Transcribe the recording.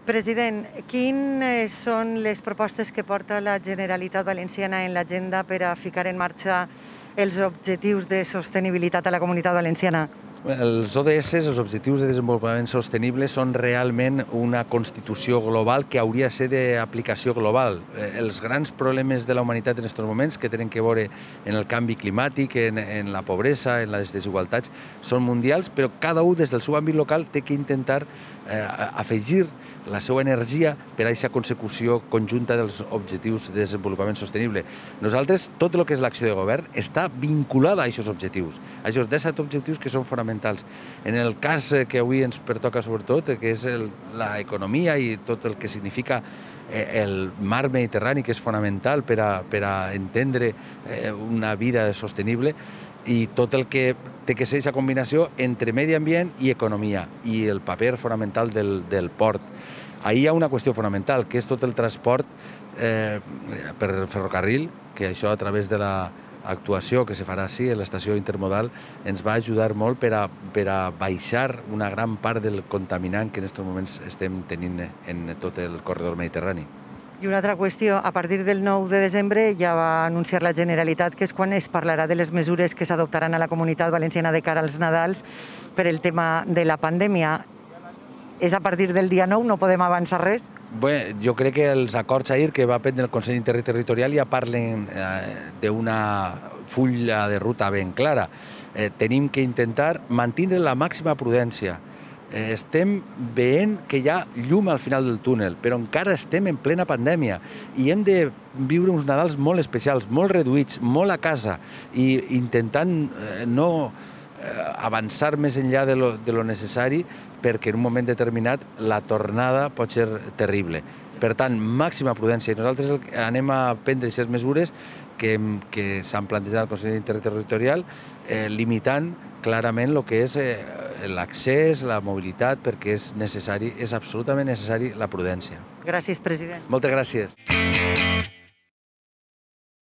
President, quines són les propostes que porta la Generalitat Valenciana en l'agenda per a ficar en marxa els objectius de sostenibilitat a la Comunitat Valenciana? Els ODS, els Objectius de Desenvolupament Sostenible, són realment una constitució global que hauria de ser d'aplicació global. Els grans problemes de la humanitat en aquests moments, que tenen que veure en el canvi climàtic, en la pobresa, en les desigualtats, són mundials, però cada un des del seu àmbit local té que intentar afegir la seva energia per a aquesta consecució conjunta dels objectius de desenvolupament sostenible. Nosaltres, tot el que és l'acció de govern està vinculada a aquests objectius, a aquests 17 objectius que són fonamentals. En el cas que avui ens pertoca sobretot, que és l'economia i tot el que significa el mar Mediterrani, que és fonamental per a entendre una vida sostenible, i tot el que té que ser aquesta combinació entre medi ambient i economia, i el paper fonamental del port. Ahí hi ha una qüestió fonamental, que és tot el transport per ferrocarril, que això a través de l'actuació que se farà així a l'estació intermodal ens va ajudar molt per a baixar una gran part del contaminant que en aquests moments estem tenint en tot el corredor mediterrani. I una altra qüestió, a partir del 9 de desembre ja va anunciar la Generalitat que és quan es parlarà de les mesures que s'adoptaran a la Comunitat Valenciana de cara als Nadals per el tema de la pandèmia. És a partir del dia 9, no podem avançar res? Bé, jo crec que els acords ahir que va prendre el Consell Interterritorial ja parlen d'una fulla de ruta ben clara. Tenim que intentar mantenir la màxima prudència. Estem veient que hi ha llum al final del túnel, però encara estem en plena pandèmia i hem de viure uns Nadals molt especials, molt reduïts, molt a casa, i intentant no avançar més enllà de lo necessari, perquè en un moment determinat la tornada pot ser terrible. Per tant, màxima prudència. I nosaltres anem a prendre aquestes mesures que s'han plantejat al Consell Interterritorial, limitant clarament el que és l'accés, la mobilitat, perquè és necessari, és absolutament necessari la prudència. Gràcies, president. Moltes gràcies.